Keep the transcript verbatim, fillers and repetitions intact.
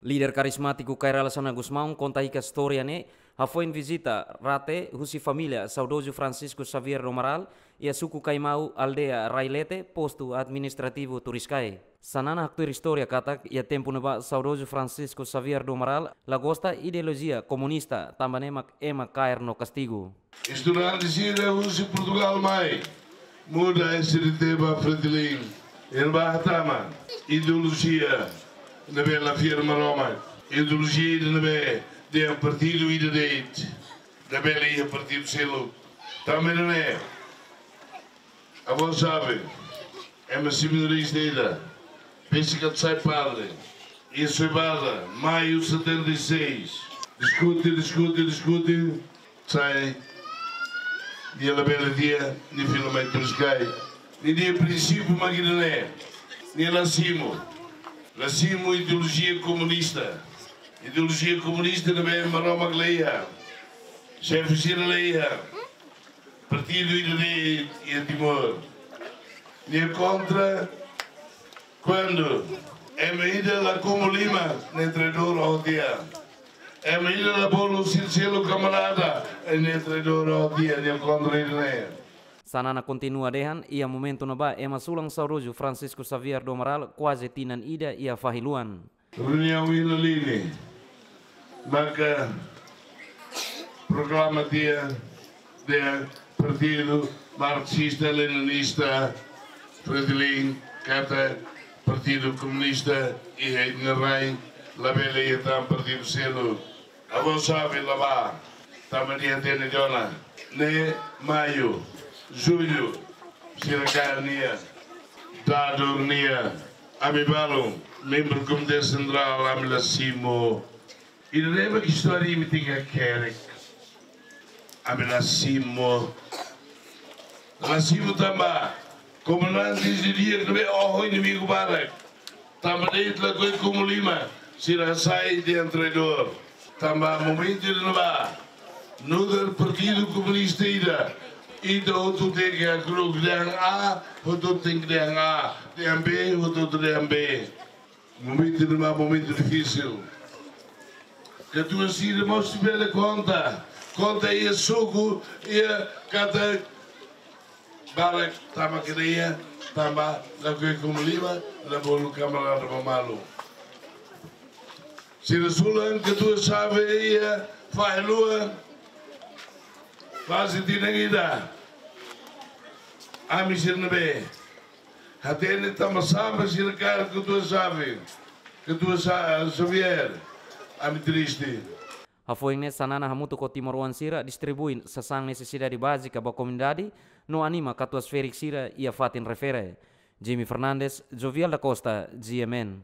Líder karizmátiku Kay Rala Xanana Gusmão konta hikas istória ne'e hafoin vizita rate husi família saudozu Francisco Xavier do Amaral iha suku Kaimau, aldeia Railete, postu administrativu Turiscai. Xanana haktuir istória katak iha tempu ne'ebá saudozu Francisco Xavier do Amaral la gosta ideolojia komunista, tanba ne'e mak ema kaer no kastigu. Estudante sira husi Portugal mai, muda S D T ba Fretilin, ema hatama ideolojia ne'ebé la fiar Maromak, ideolojia ida ne'ebé dehan partidu ida de'it, labele iha partidu seluk. Tanba ne'e, avó sabe, ema seminarista ida, pensa katak sai padre, iha Soibada, maiu setenta e seis, diskute, diskute, diskute, sai, nia labele di'ak, nia finalmente Turiscai. Nia, nia prinsípiu mak ida-ne'e, nia la simu, la simu ideolojia komunista. Ideolojia komunista ne'ebé Maromak la iha, xefe sira la iha, partidu ida de'it iha Timor. Nia kontra kuandu ema ida la kumu lima, nia traidór ho tiha. Ema ida la bolu sira selu kamarada, nia traidór ho tiha, nia kontra ida-ne'e. Xanana kontinua dehan, iha momentu ne'ebá ema sulan saudozu Francisco Xavier do Amaral kuaze tinan ida iha fahi luan. Reuniaun ida-ne'e, maka proklama tiha dehan partidu marxista leninista Fretilin, katak partidu komunista iha nia rain, labele iha tan partidu seluk. Avó sabe la bá, tanba nia hatene tiha ona, ne'e maiu, jullu, sira kaer nia, dadur nia, ami balun, membru Komité Sentrál, ami la simu. Ida-ne'e mak istória imi tenke hakerek. Ami la simu. La simu tanba komandante sira di'ak ne'ebé oho inimigu barak. Tanba de'it lakohi kumu lima, sira sai dehan traidór. Tanba momentu ida-ne'ebá, nu'udar partidu komunista ida, ita hotu tenke hakru'uk, dehan A, hotu tenke dehan A, dehan B, hotu dehan B. Momentu ida-ne'ebá momentu difisil. Katuas sira mós bele konta, konta iha suku, iha katak barak tama kereia, tanba lakohi kumu lima, la bolu kamarada ba malu. Sira sulan katuas xave iha fahi luan, faze tinan ida. Ami sira ne'ebé hatene tanba sá mak sira kaer katuas xave, katuas Xa-, Xavier, ami triste. Hafoin ne'e Xanana hamutuk ho timoroan sira distribui sasán nesesidade bázika ba komunidade no anima katuas ferik sira iha fatin refere. Jimmy Fernandes, Jovial da Costa, G M N.